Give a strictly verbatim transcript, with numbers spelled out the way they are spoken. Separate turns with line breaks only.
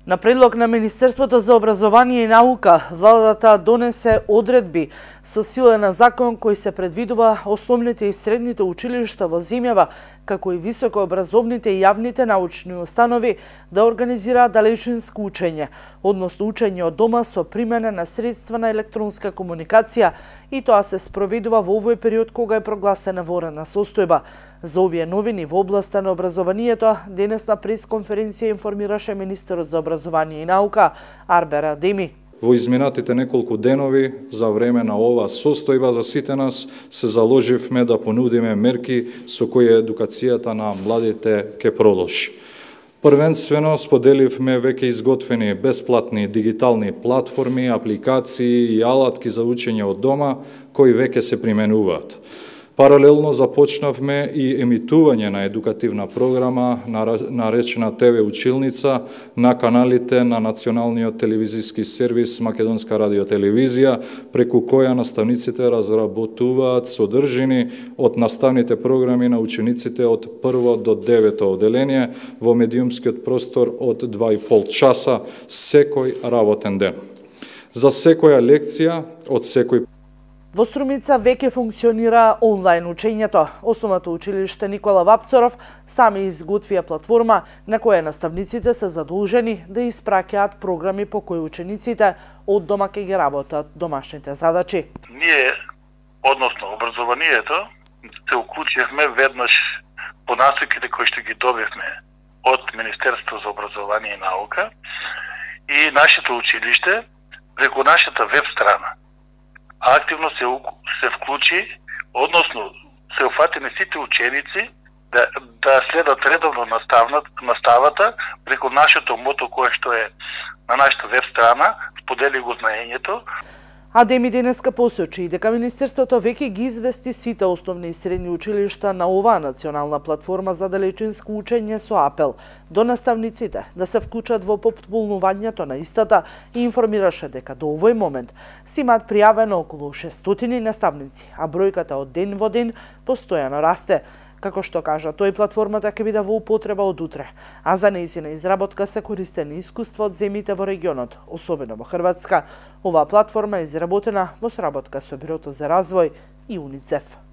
На предлог на Министерството за образование и наука, владата донесе одредби со сила на закон кој се предвидува основните и средните училишта во земјава, како и високообразовните и јавните научни установи да организираат далечинско учење, односно учење од дома со примена на средства на електронска комуникација, и тоа се спроведува во овој период кога е прогласена военна состојба. За овие новини во областа на образованието, денес на пресконференција информираше министерот за образование и наука Арбер Адеми.
Во изминатите неколку денови за време на оваа состојба за сите нас се заложивме да понудиме мерки со кои едукацијата на младите ќе продолжи. Првенствено споделивме веќе изготвени бесплатни дигитални платформи, апликации и алатки за учење од дома кои веќе се применуваат. Паралелно започнавме и емитување на едукативна програма наречена Те Ве Училница на каналите на Националниот телевизиски сервис Македонска радиотелевизија, преку која наставниците разработуваат содржини од наставните програми на учениците од прво до девето оделение во медиумскиот простор од два и пол часа секој работен ден. За секоја лекција од секој
Во Струмица веќе функционира онлайн учењето. Основното училиште Никола Вапцаров сами изготвија платформа на која наставниците се задолжени да испраќаат програми по кои учениците од дома ќе ги работат домашните задачи.
Ние, односно образованието, се уклучивме веднаш по насоките кои што ги добивме од Министерството за образование и наука и нашето училиште преку нашата веб страна активно се, се вклучи, односно се уфатени сите ученици да, да следат редовно наставата преку нашето мото кое што е на нашата веб страна, сподели го знаењето.
Адеми денеска посочи дека Министерството веќе ги извести сите основни и средни училишта на оваа национална платформа за далечинско учење со апел до наставниците да се вклучат во попполнувањето на истата и информираше дека до овој момент се имаат пријавено околу шестстотини наставници, а бројката од ден во ден постојано расте. Како што кажа тој, платформата ќе биде во употреба од утре, а за нејзина изработка се користени искуства од земјите во регионот, особено во Хрватска. Оваа платформа е изработена во соработка со Бирото за развој и УНИЦЕФ.